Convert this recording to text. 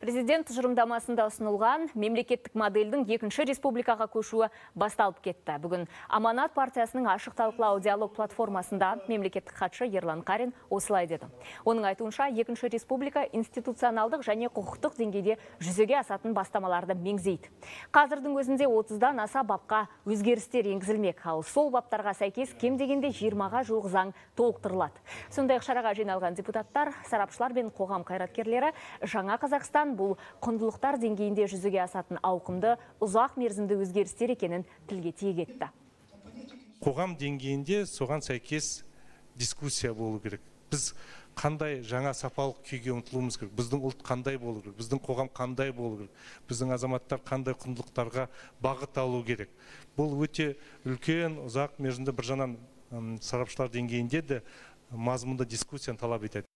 Президент тұжырымдамасында ұсынылған мемлекеттік модельдің екінші республикаға көшуі басталып кетті. Бүгін Аманат партиясының ашық талқылау диалог платформасында мемлекеттік хатшы Ерлан Қарин осылай деді. Оның айтуынша, екінші республика институционалдық және құқықтық деңгейде жүзеге асатын бастамаларды меңзейді. Қазірдің өзінде 30-дан аса бапқа өзгерістер енгізілмек, ал сол баптарға сәйкес кем дегенде 20-ға жуық заң толықтырылады. Сондай-ақ шараға жиналған депутаттар, сарапшылар мен қоғам қайраткерлері жаңа Қазақстан бұл құндылықтар деңгейінде жүзеге асатын ауқымды, ұзақ мерзімді өзгерістер екенін тілге тиек етті. Қоғам деңгейінде соған сәйкес дискуссия болу керек. Біз қандай жаңа сапалық күйге ұмтылуымыз керек, біздің ұлт қандай болу керек, біздің қоғам қандай болу керек, біздің азаматтар қандай құндылықтарға бағыт алу керек. Бұл өте үлкен, ұзақ мерзімді бір жанан сарапшылар деңгейінде де мазмұнды дискуссияны талап етеді.